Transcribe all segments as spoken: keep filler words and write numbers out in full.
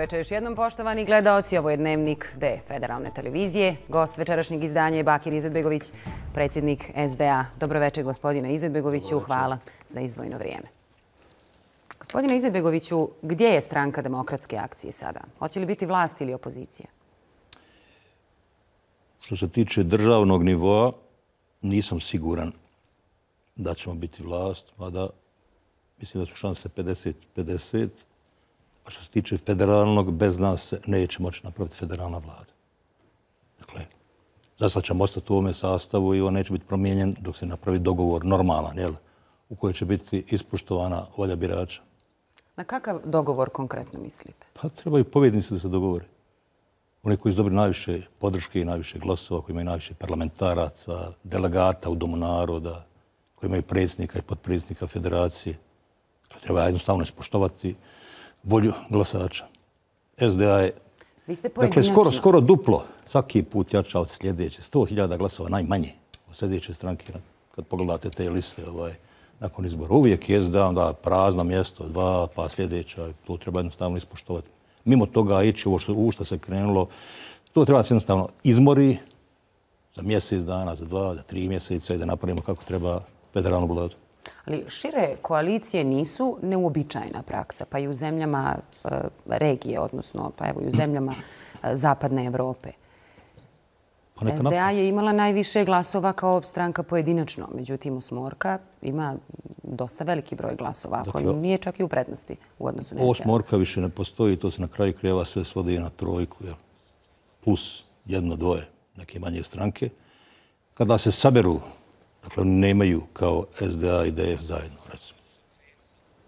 večer još jednom, poštovani gledaoci. Ovo je Dnevnik D Federalne televizije. Gost večerašnjeg izdanja je Bakir Izetbegović, predsjednik S D A. Dobro večer, gospodine Izetbegoviću. Hvala za izdvojeno vrijeme. Gospodine Izetbegoviću, gdje je stranka Demokratske akcije sada? Hoće li biti vlast ili opozicija? Što se tiče državnog nivoa, nisam siguran da ćemo biti vlast, mada mislim da su šanse pedeset pedeset. A što se tiče federalnog, bez nas se neće moći napraviti federalna vlada. Dakle, zasad ćemo ostati u ovome sastavu i on neće biti promijenjen dok se napravi dogovor normalan, jel? U kojoj će biti ispoštovana volja birača. Na kakav dogovor konkretno mislite? Pa trebaju pobjednici da se dogovore. Oni koji su dobili najviše podrške i najviše glasova, koji imaju najviše parlamentaraca, delegata u Domu naroda, koji imaju predsjednika i potpredsjednika federacije. Treba jednostavno ispoštovati volju glasača. S D A je dakle, skoro, skoro duplo, svaki put jača od sljedeće. sto hiljada glasova najmanje od sljedeće stranke. Kad pogledate te liste ovaj, nakon izbora. Uvijek je S D A onda prazno mjesto, dva, pa sljedeća. To treba jednostavno ispoštovati. Mimo toga ići ovo što, u što se krenulo, to treba se jednostavno izmori za mjesec dana, za dva, za tri mjeseca i da napravimo kako treba federalnu vladu. Ali šire koalicije nisu neuobičajena praksa, pa i u zemljama e, regije, odnosno pa evo i u zemljama e, zapadne Evrope. Pa S D A je imala najviše glasova kao stranka pojedinačno, međutim Osmorka ima dosta veliki broj glasova, ako dakle, nije čak i u prednosti u odnosu na S D A. Osmorka više ne postoji, to se na kraju krajeva sve svodi na trojku, jel? Plus jedno, dvoje, neke manje stranke. Kada se saberu, dakle, oni nemaju kao S D A i D F zajedno, recimo.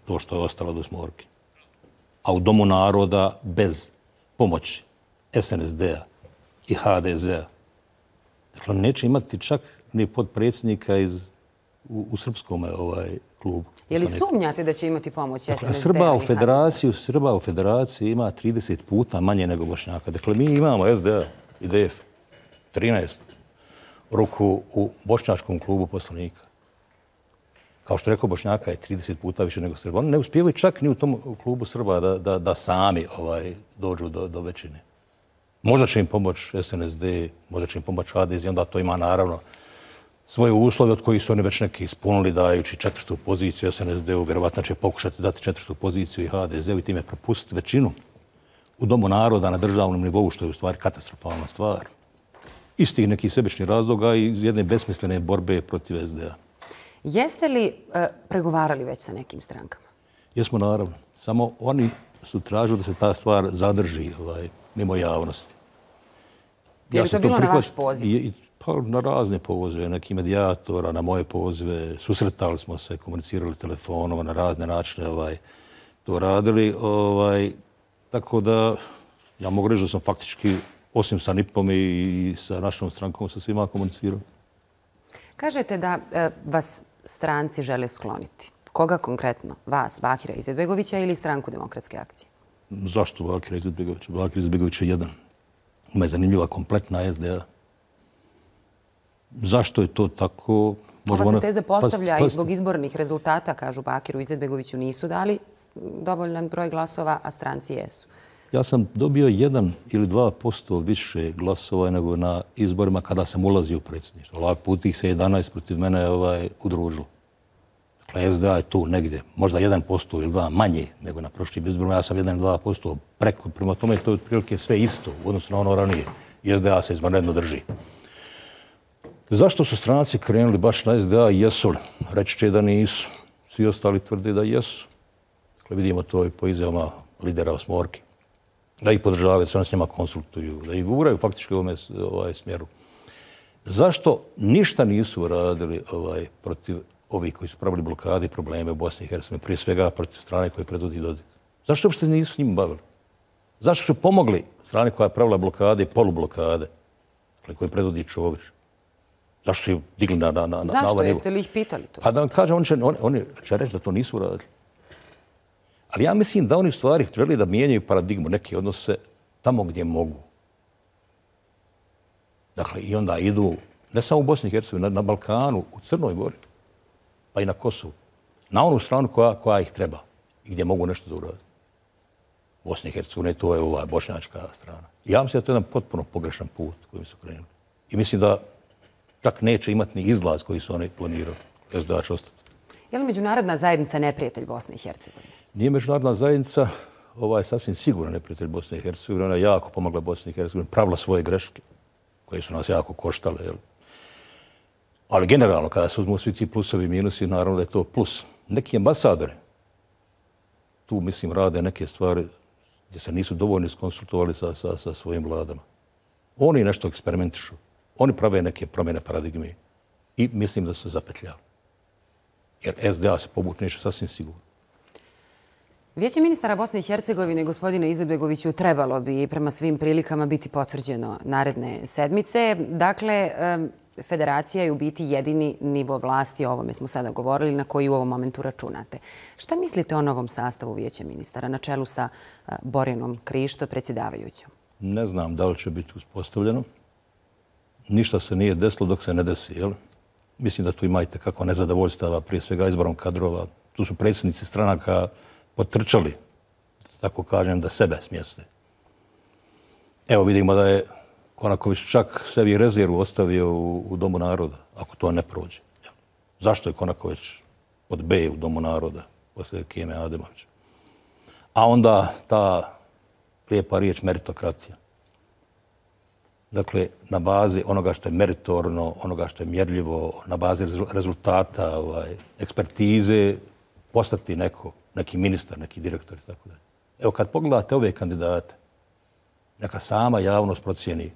To što je ostalo od Osmorke. A u Domu naroda bez pomoći S N S D-a i H D Z-a, dakle, neće imati čak ni podpredsjednika iz, u, u srpskom ovaj, klubu. Je li sumnjate da će imati pomoć S N S D-a dakle, Srba u federaciju, Srba u federaciji ima trideset puta manje nego Bošnjaka. Dakle, mi imamo S D A i D F trinaest ruku u bošnjačkom klubu poslanika. Kao što rekao, Bošnjaka je trideset puta više nego Srba. Oni ne uspijevaju čak ni u tom klubu Srba da, da, da sami ovaj, dođu do, do većine. Možda će im pomoći S N S D, možda će im pomoći H D Z, onda to ima naravno svoje uslove od kojih su oni već neki ispunili dajući četvrtu poziciju S N S D-u. Vjerovatno će pokušati dati četvrtu poziciju i H D Z-u i time propustiti većinu u Domu naroda na državnom nivou, što je u stvari katastrofalna stvar. Iz tih nekih sebičnih razloga i iz jedne besmislene borbe protiv S D A. Jeste li e, pregovarali već sa nekim strankama? Jesmo, naravno. Samo oni su tražili da se ta stvar zadrži ovaj, mimo javnosti. Je li ja to bilo prihvat... na vaš poziv? I, pa, na razne pozive, neki medijatora, na moje pozive. Susretali smo se, komunicirali telefonom, na razne načine ovaj, to radili. Ovaj, tako da ja mogu reći da sam faktički osim sa N I P-om i sa našom strankom, sa svima komunicirao. Kažete da e, vas stranci žele skloniti. Koga konkretno? Vas, Bakira Izetbegovića ili stranku Demokratske akcije? Zašto Bakira Izetbegovića? Bakira Izetbegović je jedan. Ima je zanimljiva kompletna S D A. Zašto je to tako? Ova se teza postavlja i zbog izbornih rezultata, kažu Bakiru Izetbegoviću, nisu dali dovoljan broj glasova, a stranci jesu. Ja sam dobio jedan ili dva posto više glasova nego na izborima kada sam ulazio u predsjedništvo. Ovaj put ih se jedanaest protiv mene ovaj, udružilo. Dakle, S D A je tu negdje, možda jedan posto ili dva manje nego na prošlim izborima. Ja sam jedan ili dva posto preko. Prema tome to je otprilike sve isto u odnosu na ono ranije. S D A se izvanredno drži. Zašto su stranci krenuli baš na S D A? Jesu li? Reći će da nisu. Svi ostali tvrde da jesu. Dakle, vidimo to i po izjavama lidera Osmorke. Da ih podržavaju, da se oni s njima konsultuju, da ih guraju faktički u ovome ovaj, smjeru. Zašto ništa nisu radili ovaj, protiv ovih koji su pravili blokade i probleme u Bosni i Hercegovini, prije svega protiv strane koje predvodi Dodik? Zašto uopšte nisu s njim bavili? Zašto su pomogli strane koja je pravila blokade i polublokade, koje predvodi Čović? Zašto su ih digli na, na, na, na Zašto? ovaj nivo? Jeste li ih pitali to? Pa da vam kažem, oni će, oni, oni će reći da to nisu radili. Ali ja mislim da oni u stvari trebali da mijenjaju paradigmu, neke odnose tamo gdje mogu. Dakle, i onda idu ne samo u Bosni i Hercegovini, na, na Balkanu, u Crnoj Gori, pa i na Kosovu. Na onu stranu koja, koja ih treba i gdje mogu nešto da urade. Bosne i Hercegovine, to je ova bošnjačka strana. Ja mislim da to je jedan potpuno pogrešan put kojim su krenuli. I mislim da čak neće imati ni izlaz koji su oni planirali. S D A će ostati. Je li međunarodna zajednica neprijatelj Bosne i Hercegovine? Nije međunarodna zajednica, ova je sasvim sigurno neprijatelj Bosne i Hercegovine. Ona je jako pomogla Bosni i Hercegovini, pravila svoje greške, koje su nas jako koštale. Jel? Ali generalno, kada se uzmu svi ti plusovi i minusi, naravno da je to plus. Neki ambasadori tu, mislim, rade neke stvari gdje se nisu dovoljno iskonsultovali sa, sa, sa svojim vladama. Oni nešto eksperimentišu. Oni prave neke promjene paradigme i mislim da su zapetljali. Jer S D A se povuče neće sasvim sigurno. Vijeće ministara Bosne i Hercegovine, gospodine Izetbegoviću, trebalo bi prema svim prilikama biti potvrđeno naredne sedmice. Dakle, federacija je u biti jedini nivo vlasti, o ovome smo sada govorili, na koji u ovom momentu računate. Šta mislite o novom sastavu Vijeća ministara na čelu sa Borjanom Krišto, predsjedavajućom? Ne znam da li će biti uspostavljeno. Ništa se nije desilo dok se ne desi, jel? Mislim da tu imate kako nezadovoljstava, prije svega izborom kadrova. Tu su predsjednici stranaka potrčali, tako kažem, da sebe smjeste. Evo vidimo da je Konaković čak sebi rezervu ostavio u, u Domu naroda, ako to ne prođe. Jel? Zašto je Konaković pod B u Domu naroda poslije Keme Ademovića? A onda ta lijepa riječ meritokratija. Dakle, na bazi onoga što je meritorno, onoga što je mjerljivo, na bazi rezultata, ovaj, ekspertize, postati neko, neki ministar, neki direktor i tako dalje. Evo, kad pogledate ove kandidate, neka sama javnost procijeni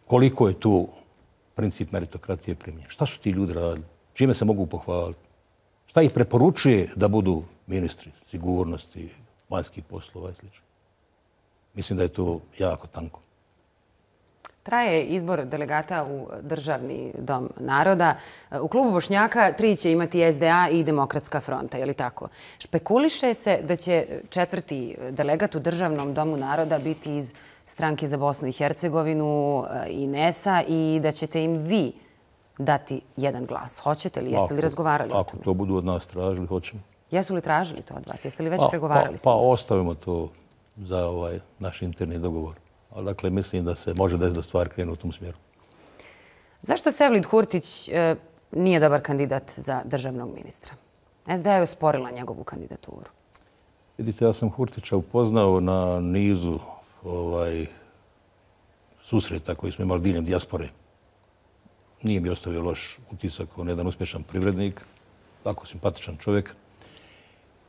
koliko je tu princip meritokratije primjenjen. Šta su ti ljudi radili? Čime se mogu pohvaliti? Šta ih preporučuje da budu ministri sigurnosti, vanjskih poslova i sl. Mislim da je to jako tanko. Traje izbor delegata u Državni dom naroda. U klubu Bošnjaka tri će imati S D A i Demokratska fronta, je li tako? Špekuliše se da će četvrti delegat u Državnom domu naroda biti iz Stranke za Bosnu i Hercegovinu i N E S-a i da ćete im vi dati jedan glas. Hoćete li? Jeste li razgovarali o tome? Ako to budu od nas tražili, hoćemo. Jesu li tražili to od vas? Jeste li već pregovarali s njima? Pa ostavimo to za ovaj naš interni dogovor. Ali dakle, mislim da se može desiti da stvari krenu u tom smjeru. Zašto Sevlid Hurtić e, nije dobar kandidat za državnog ministra? S D A je osporila njegovu kandidaturu. Vidite, ja sam Hurtića upoznao na nizu ovaj, susreta koji smo imali diljem dijaspore. Nije mi ostavio loš utisak, on je jedan uspješan privrednik, tako simpatičan čovjek.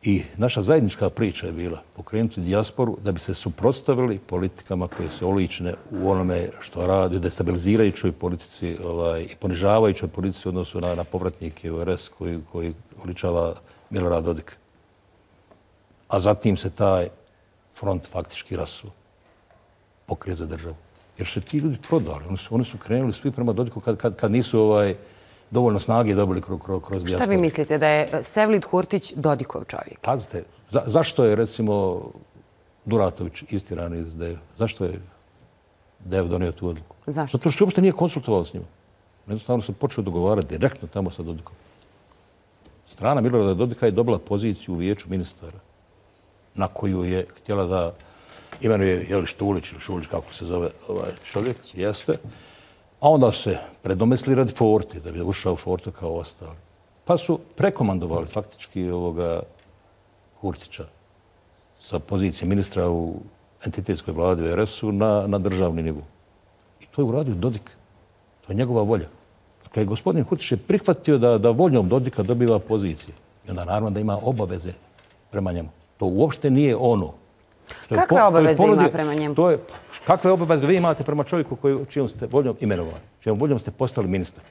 I naša zajednička priča je bila pokrenuti dijasporu da bi se suprotstavili politikama koje su oličene u onome što radi, destabilizirajućoj politici ovaj, i ponižavajućoj politici u odnosu na, na povratnike u R S koji, koji oličava Milorad Dodik. A zatim se taj front faktički rasuo, pokrije za državu. Jer su ti ljudi prodali, oni su, oni su krenuli svi prema Dodiku kad, kad, kad nisu ovaj, dovoljno snage dobili kroz, kroz, kroz dijasporu. Šta vi mislite, da je Sevlid Hurtić Dodikov čovjek? Pazite, za, zašto je recimo Duratović istiran iz D E V? Zašto je D E V donio tu odluku? Zašto? Zato što se uopšte nije konsultovao s njima. Jednostavno se počeo dogovarati direktno tamo sa Dodikom. Strana Milorada Dodika je dobila poziciju u vijeću ministara na koju je htjela da imenuje je li Štulić ili Šulić, kako se zove ovaj čovjek, jeste. A onda se predomesli radi Forte, da bi ušao Forte kao ostali. Pa su prekomandovali faktički ovoga Hurtića sa pozicije ministra u entitetskoj vladi u R S-u na, na državni nivou. I to je uradio Dodik. To je njegova volja. Dakle, gospodin Hurtić je prihvatio da, da voljom Dodika dobiva pozicije. I onda naravno da ima obaveze prema njemu. To uopšte nije ono. Kakve po, obaveze ponudio, ima prema njemu? To je, kakve obaveze vi imate prema čovjeku koji, čijom ste voljom imenovali, čijom voljom ste postali ministar?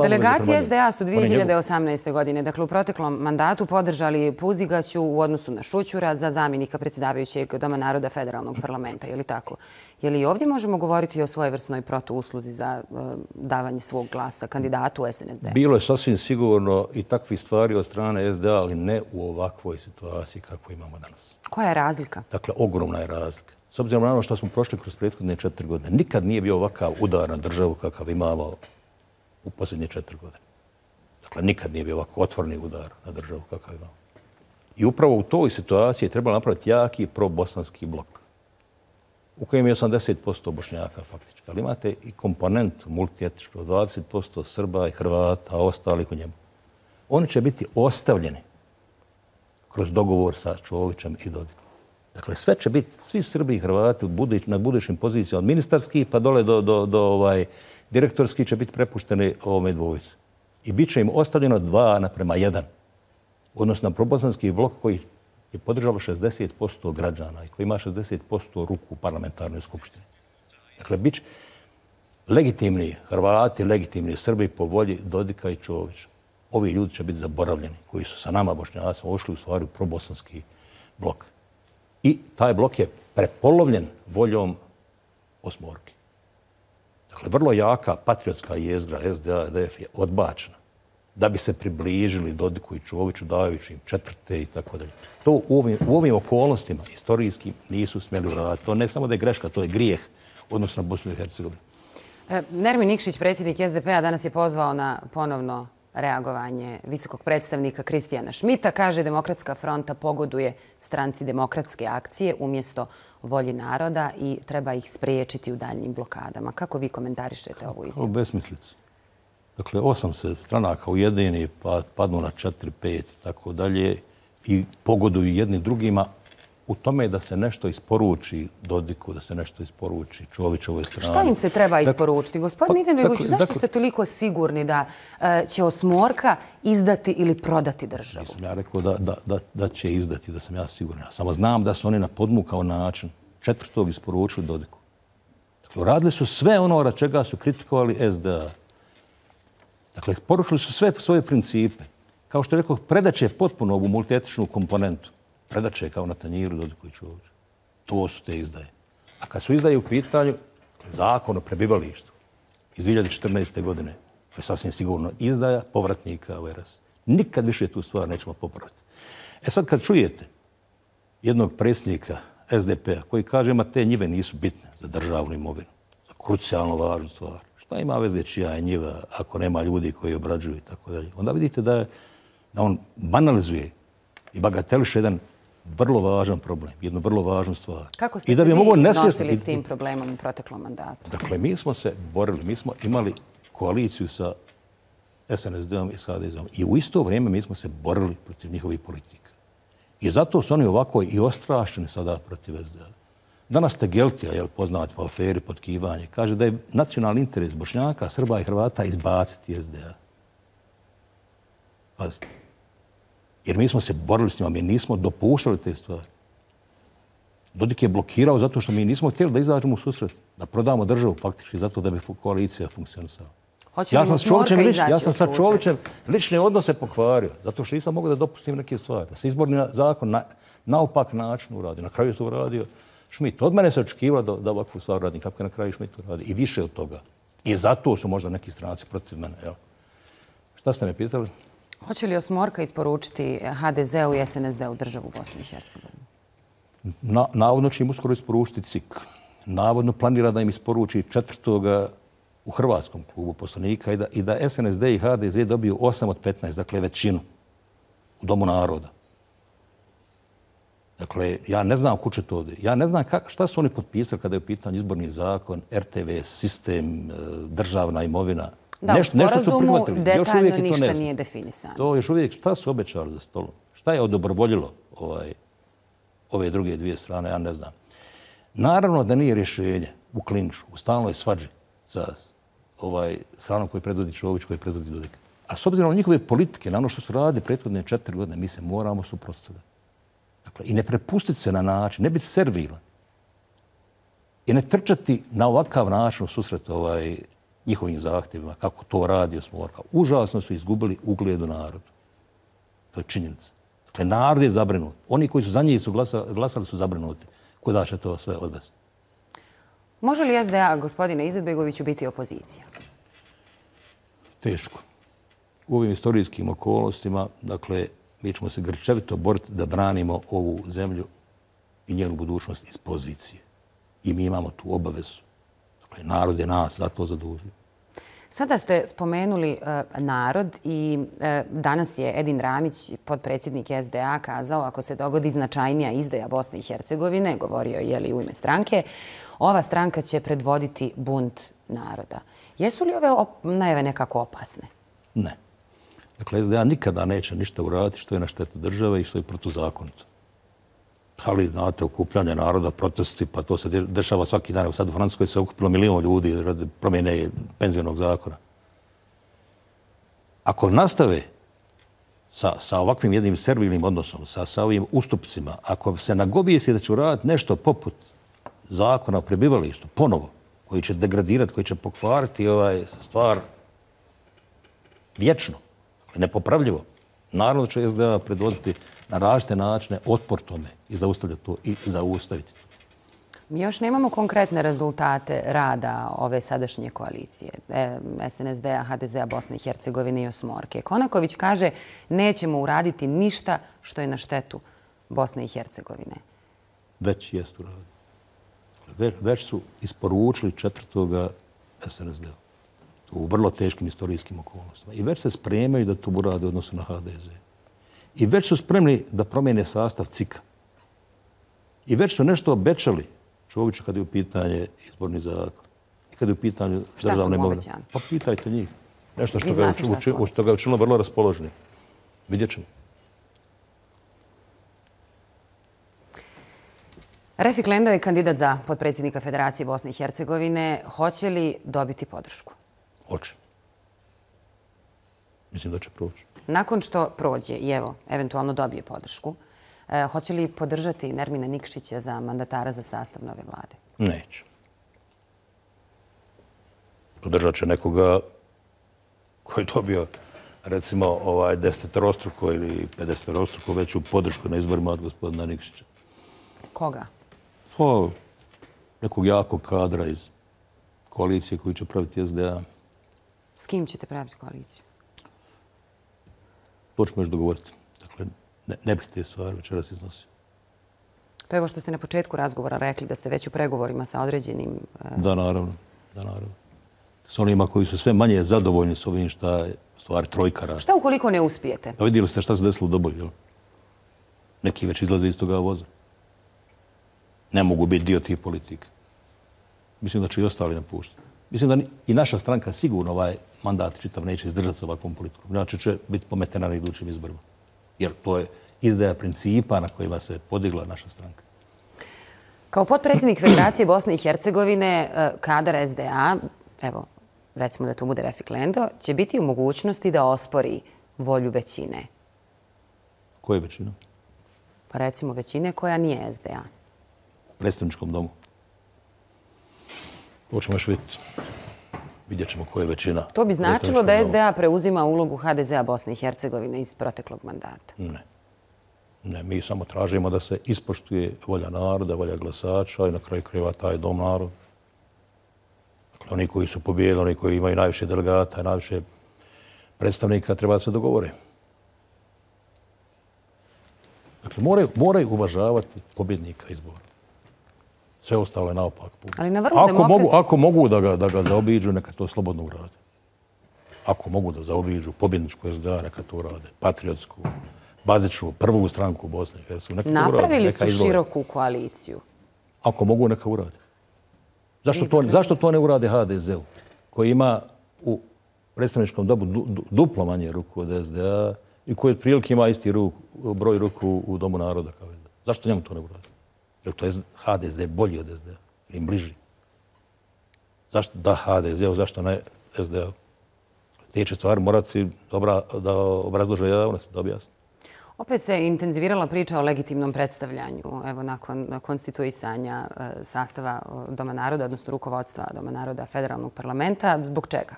Delegati S D A su dvije hiljade osamnaeste. godine, dakle u proteklom mandatu, podržali Puzigaću u odnosu na Šućura za zamjenika predsjedavajućeg Doma naroda Federalnog parlamenta. Je li tako? Je li ovdje možemo govoriti o svojevrsnoj protuusluzi za uh, davanje svog glasa kandidatu S N S D? Bilo je sasvim sigurno i takvih stvari od strane S D A, ali ne u ovakvoj situaciji kakvu imamo danas. Koja je razlika? Dakle, ogromna je razlika. S obzirom na ono što smo prošli kroz prethodne četiri godine, nikad nije bio ovakav udar na državu kakav imamo u posljednje četiri godine. Dakle, nikad nije bio ovako otvorni udar na državu kakav imamo. I upravo u toj situaciji je trebalo napraviti jaki probosanski blok u kojem je osamdeset posto Bošnjaka faktički. Ali imate i komponent multietničkog, dvadeset posto Srba i Hrvata, a ostali u njemu. Oni će biti ostavljeni kroz dogovor sa Čovićem i Dodikom. Dakle, sve će biti, svi Srbi i Hrvati na budućim pozicijama od ministarskih pa dole do, do, do ovaj, direktorskih će biti prepušteni ovome dvojici. I bit će im ostavljeno dva naprema jedan. Odnosno na probosanski blok koji je podržalo šezdeset posto građana i koji ima šezdeset posto ruku u parlamentarnoj skupštini. Dakle, bit će legitimni Hrvati, legitimni Srbi po volji Dodika i Čovića. Ovi ljudi će biti zaboravljeni, koji su sa nama Bošnjacima ušli u stvari u probosanski blok. I taj blok je prepolovljen voljom osmorke. Dakle, vrlo jaka patriotska jezgra S D A i D F je odbačena da bi se približili Dodiku i Čoviću dajući im četvrte i tako dalje. To u ovim, u ovim okolnostima istorijskim nisu smjeli uraditi. To ne samo da je greška, to je grijeh odnosno na Bosnu i Hercegovinu. Nermin Nikšić, predsjednik S D P-a, danas je pozvao na ponovno reagovanje visokog predstavnika Kristijana Šmita. Kaže, Demokratska fronta pogoduje stranci Demokratske akcije umjesto volji naroda i treba ih spriječiti u daljnjim blokadama. Kako vi komentarišete ovu izjavu? Kao besmislicu. Dakle, osam se stranaka ujedini, pa padnu na četiri, pet i tako dalje i pogoduju jednim drugima u tome da se nešto isporuči Dodiku, da se nešto isporuči Čovićovoj strani. Šta im se treba isporučiti? Gospodin Izetbegović, zašto dakle, ste toliko sigurni da uh, će osmorka izdati ili prodati državu? Nisam ja rekao da, da, da, da će izdati, da sam ja siguran. Ja samo znam da su oni na podmukao način četvrtog isporučili Dodiku. Dakle, radili su sve ono od čega su kritikovali S D A. Dakle, poručili su sve svoje principe. Kao što je rekao, predaće potpuno ovu multietničnu komponentu. Predaće kao na tanjiru Dodiku i Čoviću. To su te izdaje. A kad su izdaje u pitanju, zakon o prebivalištu iz dvije hiljade četrnaeste. godine, to je sasvim sigurno izdaja povratnika u R S. Nikad više tu stvar nećemo popraviti. E sad kad čujete jednog predsjednika S D P-a koji kaže ima te njive nisu bitne za državnu imovinu, za krucijalno važnu stvar. Šta ima veze čija je njiva ako nema ljudi koji obrađuju i tako dalje. Onda vidite da, je, da on banalizuje i bagateliše jedan vrlo važan problem, jednu vrlo važnu stvar. Kako ste I da se bi vi nesvjesno... nosili s tim problemom u proteklom mandatu? Dakle, mi smo se borili, mi smo imali koaliciju sa S N S D-om i s H D Z-om i u isto vrijeme mi smo se borili protiv njihovih politika. I zato su oni ovako i ostrašćeni sada protiv S D A. Danas Tegeltija, jel, poznat po aferi potkivanje, kaže da je nacionalni interes Bošnjaka, Srba i Hrvata izbaciti S D A. Pazite. Jer mi smo se borili s njima, mi nismo dopuštali te stvari. Dodik je blokirao zato što mi nismo htjeli da izađemo u susret, da prodamo državu faktički zato da bi koalicija funkcionisala. Ja sam, ja sam sa Čovićem lične odnose pokvario, zato što nisam mogao da dopustim neke stvari. Da se izborni zakon na, naopak način uradi. Na kraju je to uradio Šmit. Od mene se očekivalo da, da ovakvu stvar radi, kako je na kraju Šmit uradi. I više od toga. I zato su možda neki stranci protiv mene. Jel? Šta ste me pitali? Hoće li osmorka isporučiti H D Z-u i S N S D-u državu Bosne i Hercegovine? Na, navodno će im uskoro isporučiti C I K. Navodno planira da im isporuči četvrtoga u Hrvatskom klubu poslanika i da, i da S N S D i H D Z dobiju osam od petnaest, dakle većinu u Domu naroda. Dakle, ja ne znam kuće to ode. Ja ne znam kak, šta su oni potpisali kada je u pitanju izborni zakon, R T V, sistem, državna imovina. Da, nešto, u sporazumu detaljno ništa nije definisano. To još uvijek šta su obećali za stolom? Šta je odobrovoljilo ovaj, ove druge dvije strane, ja ne znam. Naravno da nije rješenje u klinču, u stalnoj svađi sa ovaj, stranom koji predvodi Čović, koji predvodi Dodik. A s obzirom na njihove politike, na ono što su radili prethodne četiri godine, mi se moramo suprotstaviti. Dakle, i ne prepustiti se na način, ne biti servilan. I ne trčati na ovakav način u susret ovaj, njihovim zahtjevima, kako to radi osmorka. Užasno su izgubili ugled u narodu. To je činjenica. Dakle, narod je zabrinut. Oni koji su za njih su glasali, glasali su zabrinuti. Kuda će to sve odvesti? Može li S D A, gospodine Izetbegoviću, biti opozicija? Teško. U ovim istorijskim okolnostima, dakle, mi ćemo se grčevito boriti da branimo ovu zemlju i njenu budućnost iz pozicije. I mi imamo tu obavezu. Dakle, narod je nas za to zadužio. Sada ste spomenuli narod i danas je Edin Ramić, podpredsjednik S D A, kazao ako se dogodi značajnija izdaja Bosne i Hercegovine, govorio je li u ime stranke, ova stranka će predvoditi bunt naroda. Jesu li ove najave nekako opasne? Ne. Dakle, S D A nikada neće ništa uraditi što je na štetu države i što je protuzakonito. Ali, znate, okupljanje naroda, protesti, pa to se dešava svaki dan. Sad u Francuskoj se okupilo milijon ljudi radi promjene penzionog zakona. Ako nastave sa, sa ovakvim jednim servilnim odnosom, sa, sa ovim ustupcima, ako se nagovijesi da će uraditi nešto poput zakona o prebivalištu, ponovo, koji će degradirati, koji će pokvariti ovaj stvar vječno, nepopravljivo, naravno će S D A predvoditi na različite načine otpor tome i zaustavljati to i zaustaviti to. Mi još nemamo konkretne rezultate rada ove sadašnje koalicije, S N S D-a, H D Z-a, Bosne i Hercegovine i Osmorke. Konaković kaže nećemo uraditi ništa što je na štetu Bosne i Hercegovine. Već jest uradili. Ve, već su isporučili četvrtoga S N S D-a u vrlo teškim istorijskim okolnostima. I već se spremaju da to urade u odnosu na H D Z. I već su spremni da promijene sastav C I K-a. I već su nešto obećali Čoviću kad je u pitanje izborni zakon. I kad je u pitanju državne imovine. Šta su mu obećani? Pa pitajte njih. Nešto što ga, uči, što ga je učinilo vrlo raspoloženi. Vidjet ćemo. Refik Lendo je kandidat za podpredsjednika Federacije Bosne i Hercegovine. Hoće li dobiti podršku? Hoće. Mislim da će proći. Nakon što prođe i evo, eventualno dobije podršku, e, hoće li podržati Nermina Nikšića za mandatara za sastav nove vlade? Neće. Podržat će nekoga koji je dobio, recimo, ovaj desetorostruko ili pedesetorostruko veću podršku na izborima od gospodina Nikšića. Koga? Pa, nekog jakog kadra iz koalicije koji će praviti S D A. S kim ćete praviti koaliciju? To ćemo još dogovoriti. Dakle, ne, ne bih te stvari večeras iznosio. To je ovo što ste na početku razgovora rekli, da ste već u pregovorima sa određenim... Uh... Da, naravno. Da, naravno. S onima koji su sve manje zadovoljni s ovim šta je stvari trojka radi. Šta ukoliko ne uspijete? Pa vidjeli ste šta se desilo u Doboju, jel? Neki već izlaze iz toga voza. Ne mogu biti dio tih politika. Mislim da će i ostali napuštati. Mislim da i naša stranka sigurno ovaj mandat čitav neće izdržati sa ovakvom politikom. Znači će biti pometena na idućim izborima. Jer to je izdaja principa na kojima se podigla naša stranka. Kao potpredsjednik Federacije Bosne i Hercegovine, kadar S D A, evo, recimo da to bude Refik Lendo, će biti u mogućnosti da ospori volju većine. Koje većine? Pa recimo većine koja nije S D A. U predstavničkom domu. To ćemo još vidjeti. Vidjet ćemo koja je većina. To bi značilo da S D A preuzima ulogu H D Z-a Bosne i Hercegovine iz proteklog mandata. Ne. Ne, mi samo tražimo da se ispoštuje volja naroda, volja glasača i na kraju krajeva taj dom naroda. Dakle, oni koji su pobijedili, oni koji imaju najviše delegata, najviše predstavnika, treba da se dogovore. Dakle, moraju, moraju uvažavati pobjednika izbora. Sve ostalo je naopak. Ali na vrlo ako, demokratski... mogu, ako mogu da ga, da ga zaobiđu, neka to slobodno urade. Ako mogu da zaobiđu pobjedničku S D A, neka to urade. Patriotsku, bazičnu, prvu stranku u Bosni i Hercegovini. Napravili su široku koaliciju. Ako mogu, neka urade. Zašto to, zašto to ne urade H D Z-u, koji ima u predstavničkom dobu du, du, duplo manje ruku od S D A i koji otprilike ima isti ruk, broj ruku u Domu naroda kao S D A? Zašto njemu to ne urade? Jer to je H D Z bolji od S D A, ili im bliži. Zašto da H D Z-u, zašto ne S D A? Te će stvari morati dobra, da obrazlože javnost, da objasni. Opet se intenzivirala priča o legitimnom predstavljanju, evo nakon konstituisanja sastava Doma naroda, odnosno rukovodstva Doma naroda federalnog parlamenta. Zbog čega?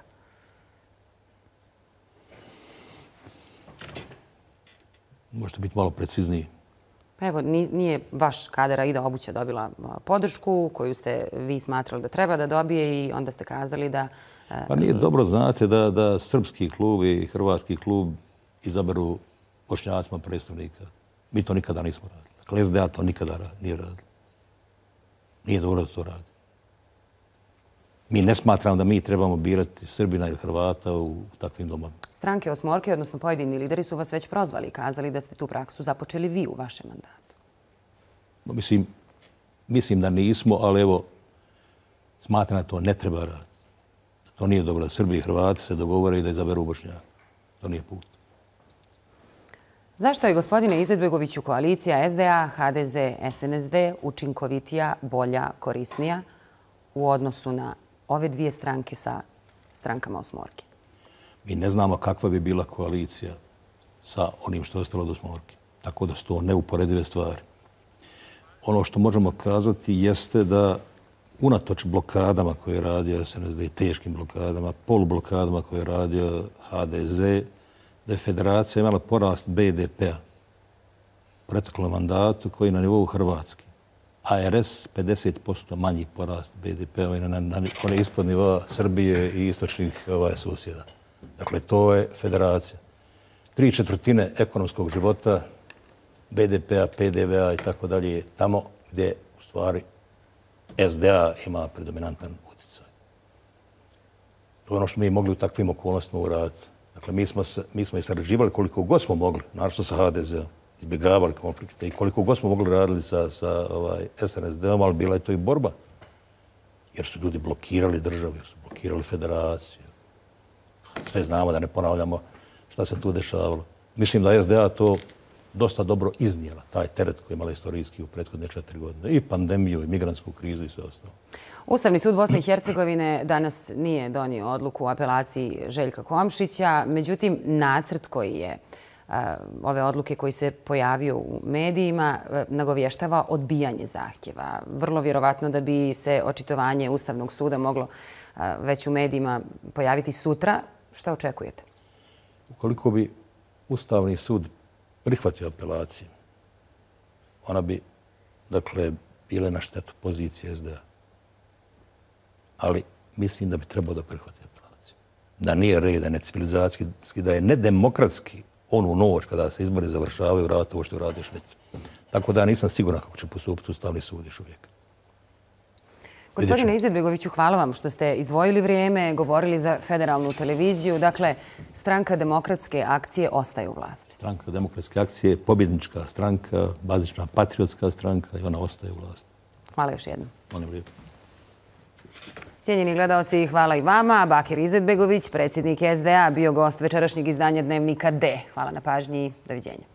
Možete biti malo precizniji. Pa evo, nije vaš kadar Aida Obuća dobila podršku koju ste vi smatrali da treba da dobije i onda ste kazali da... Pa nije dobro, znate, da, da srpski klub i hrvatski klub izaberu Bošnjacima predstavnika. Mi to nikada nismo radili. Dakle, S D A to nikada nije radili. Nije dobro da to radi. Mi ne smatramo da mi trebamo birati Srbina ili Hrvata u takvim domovima. Stranke osmorke, odnosno pojedini lideri, su vas već prozvali i kazali da ste tu praksu započeli vi u vašem mandatu. Mislim, mislim da nismo, ali evo, smatram da to ne treba raditi. To nije dobro da Srbi i Hrvati se dogovore i da izaberu Bošnjaka. To nije put. Zašto je, gospodine Izetbegoviću, koalicija S D A, H D Z, S N S D učinkovitija, bolja, korisnija u odnosu na ove dvije stranke sa strankama osmorke? Mi ne znamo kakva bi bila koalicija sa onim što je ostalo od osmorke. Tako da su to neuporedive stvari. Ono što možemo kazati jeste da unatoč blokadama koje je radio S N S D i teškim blokadama, polublokadama koje je radio H D Z, da je federacija imala porast B D P-a u proteklom mandatu koji je na nivou Hrvatske. A R S pedeset posto manji porast B D P-a na, na, na one ispod nivoa Srbije i istočnih ovaj, susjeda. Dakle, to je federacija. Tri četvrtine ekonomskog života, B D P-a, P D V-a i tako dalje je tamo gdje u stvari S D A ima predominantan utjecaj. To je ono što mi mogli u takvim okolnostima uraditi. Dakle, mi smo, mi smo i sarađivali koliko god smo mogli, naravno sa H D Z-om, izbjegavali konflikte i koliko god smo mogli raditi sa, sa ovaj, S N S D-om, ali bila je to i borba. Jer su ljudi blokirali državu, jer su blokirali federaciju. Sve znamo, da ne ponavljamo šta se tu dešavalo. Mislim da je S D A to dosta dobro iznijela, taj teret koji je imala istorijski u prethodne četiri godine. I pandemiju, i migrantsku krizu i sve ostalo. Ustavni sud Bosne i Hercegovine danas nije donio odluku o apelaciji Željka Komšića. Međutim, nacrt koji je ove odluke koji se pojavio u medijima nagovještava odbijanje zahtjeva. Vrlo vjerovatno da bi se očitovanje Ustavnog suda moglo već u medijima pojaviti sutra. Šta očekujete? Ukoliko bi Ustavni sud prihvatio apelaciju, ona bi, dakle, bila na štetu pozicije S D A. Ali mislim da bi trebao da prihvati apelaciju. Da nije red, da je necivilizacijski, da je nedemokratski onu noć kada se izbori završavaju, raditi ovo što radiš već. Tako da ja nisam siguran kako će postupiti Ustavni sud još uvijek. Gospodine Izetbegoviću, hvala vam što ste izdvojili vrijeme, govorili za federalnu televiziju. Dakle, stranka Demokratske akcije ostaje u vlasti. Stranka Demokratske akcije je pobjednička stranka, bazična patriotska stranka i ona ostaje u vlasti. Hvala još jednom. Molim lijepo. Cijenjeni gledalci, hvala i vama. Bakir Izetbegović, predsjednik S D A, bio gost večerašnjeg izdanja Dnevnika D. Hvala na pažnji. Doviđenja.